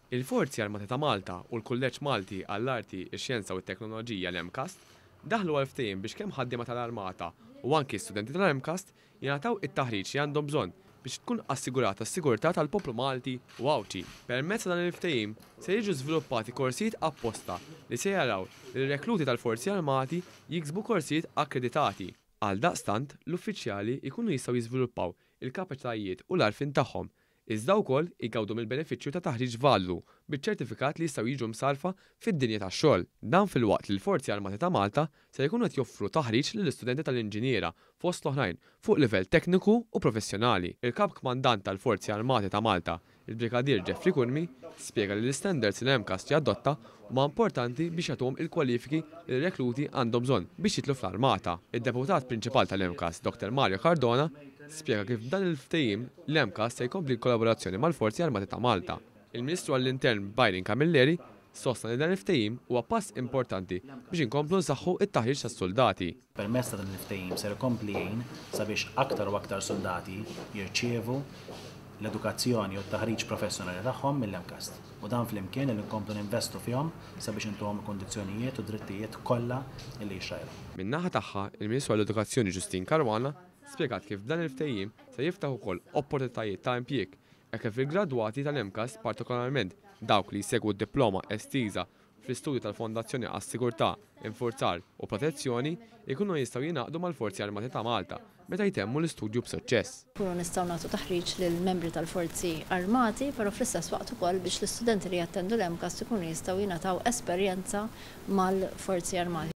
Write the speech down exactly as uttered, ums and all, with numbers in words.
Il-Forzi Armati ta' Malta u l-Kulleġġ Malti għall-Arti, ix-Xjenza u t-Teknoloġija, l-MCAST, daħlu għal ftehim biex kemm ħaddiema tal-Armata u anki studenti tal-MCAST jingħataw it-taħriġ li għandhom bżonn biex tkun assigurata s-sigurtà tal-poplu Malti u Għawdxi. Permezz ta' dan il-ftehim se jiġu żviluppati korsijiet apposta li se jaraw li r-rekluti tal-Forzi Armati jiksbu korsijiet akkreditati. Għaldaqstant, l-uffiċjali jkunu jistgħu jiżviluppaw il-kapaċitajiet u l-għarfien tagħhom, iżda wkoll igawdu mill-benefiċċju ta' taħriġ valdu biċ-ċertifikat li jistgħu jiġu msarrfa fid-dinja tax-xogħol. Dan filwaqt li l-Forzi Armati ta' Malta se jkunu qed joffru taħriġ lill-istudenti tal-inġiniera, fost l-oħrajn, fuq livell tekniku u professjonali. Il-Kap Kmandant tal-Forzi Armati ta' Malta, il-Brigadier Jeffrey Curmi, spjega li l-istandards li l-MCAST jadotta huma importanti biex jagħtuhom il-kwalifiki li r-rekluti għandhom bżonn biex jidħlu fl-armata. Id-deputat prinċipal tal-MCAST, Doktor Mario Cardona, spjega kif b'dan il-ftehim l-MCAST se jkompli l-kollaborazzjoni mal-Forzi Armati ta' Malta. Il-Ministru għall-Intern Byron Camilleri sostna li dan il-ftehim huwa pass importanti biex inkomplu nsaħħu it-taħriġ tas-soldati. Permezz ta' dan il-ftehim ser ikompli jgħin sabiex aktar u aktar soldati jirċievu l-edukazzjoni u t-taħriġ professjonali tagħhom mill-MCAST. U dan flimkien li nkomplu ninvestu fihom sabiex intuhom kundizzjonijiet u drittijiet kollha li jixraqilhom. Min-naħa tagħha, il-Ministru għall-Edukazzjoni Justyne Caruana spjegat kif dan il-ftehim se jiftaħ ukoll opportunitajiet ta' impjieg hekk kif il-gradwati tal-MCAST, partikolarment dawk li jsegwu d-diploma estiża fl-istudju tal-Fondazzjoni għas-Sigurtà, Infurzar u Protezzjoni, ikunu jistgħu jingħaqdu mal-Forzi Armati ta' Malta meta jtemmu l-istudju b'suċċess. Kunu nistgħu nagħtu taħriġ lill-membri tal-Forzi Armati, però fl-istess waqt ukoll biex l-istudenti li jattendu l-MCAST ikunu jistgħu jingħataw esperjenza mal-Forzi Armati.